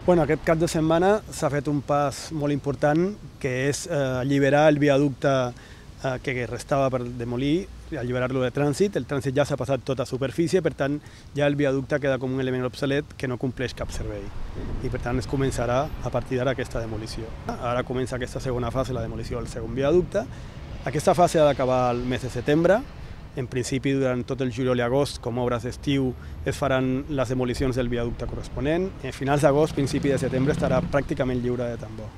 Bueno, aquest cap de setmana s'ha fet un pas molt important, que és alliberar el viaducte que restava per demolir, alliberar-lo de trànsit. El trànsit ja s'ha passat tot a superfície, per tant, ja el viaducte queda com un element obsolet que no compleix cap servei. I per tant es començarà a partir d'ara aquesta demolició. Ara comença aquesta segona fase, la demolició del segon viaducte. Aquesta fase ha d'acabar el mes de setembre. En principi, durant tot el juliol i agost, com obres d'estiu, es faran les demolicions del viaducte corresponent. A finals d'agost, principi de setembre, estarà pràcticament lliure de tambor.